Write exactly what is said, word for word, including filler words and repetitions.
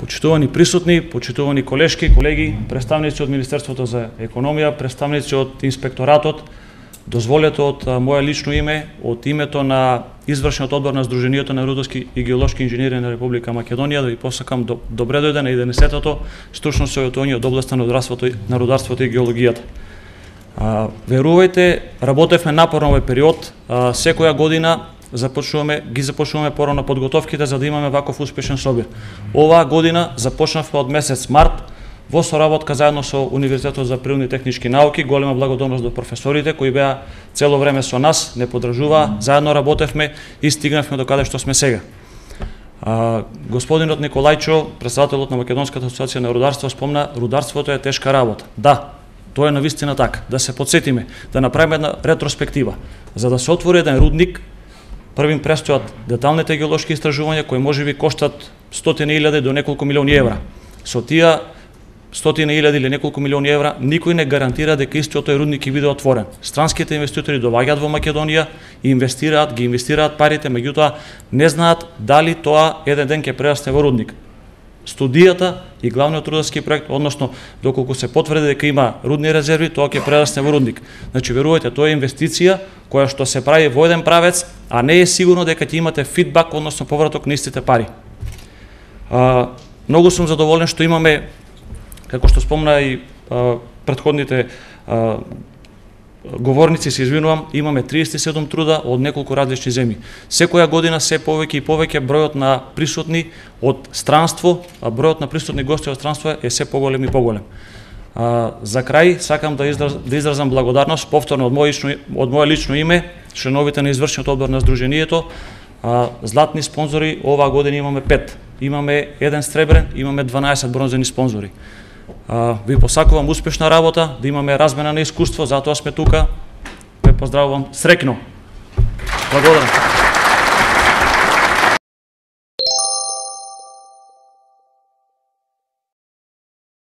Почитувани присутни, почитувани колешки, колеги, представници од Министерството за економија, представници од инспекторатот, дозволете од моје лично име, од името на извршниот одбор на Сдруженијето на рударски и геолошки инженери на Република Македонија, да ви посакам добре дојде на единесетото стручно советување од областа на рударството, на рударството и геологијата. А, верувајте, работевме напорно овој период, а, секоја година започнуваме, ги започнуваме порано подготовките за да имаме ваков успешен собир. Оваа година започнавме од месец март во соработка заедно со Универзитетот за природни и технички науки. Голема благодарност до професорите кои беа цело време со нас, не подржуваа, заедно работевме и стигнавме до каде што сме сега. А, господинот Николајчо, председателот на Македонската асоциација на рударство, спомна рударството е тешка работа. Да, тоа е навистина така. Да се подсетиме, да направиме една ретроспектива. За да се отвори еден рудник, првим престојат деталните геолошки истражувања кои можеби коштат стотини илјади до неколку милиони евра. Со тие стотини илјади или неколку милиони евра никој не гарантира дека истиот тој рудник ќе биде отворен. Странските инвеститори доаѓаат во Македонија и инвестираат, ги инвестираат парите, меѓутоа не знаат дали тоа еден ден ќе прерасне во рудник. Студијата и главниот рударски проект, односно доколку се потврди дека има рудни резерви, тоа ќе прерасне во рудник. Значи верувајте, тоа е инвестиција која што се прави во еден правец, а не е сигурно дека ќе имате фидбак, односно повраток на истите пари. А, многу сум задоволен што имаме, како што спомна и а, предходните а, говорници, се извинувам, имаме триесет и седум труда од неколку различни земји. Секоја година се повеќе и повеќе бројот на присутни од странство, а бројот на присутни гости од странство е се поголем и поголем. А, за крај сакам да, израз, да изразам благодарност повторно од моје лично, од моје лично име, членовите на извршниот одбор на Сдруженијето. А, златни спонзори оваа година имаме пет. Имаме еден сребрен, имаме дванаесет бронзени спонзори. А, ви посакувам успешна работа, да имаме размена на искуство, затоа сме тука. Ве поздравувам, среќно. Благодарам.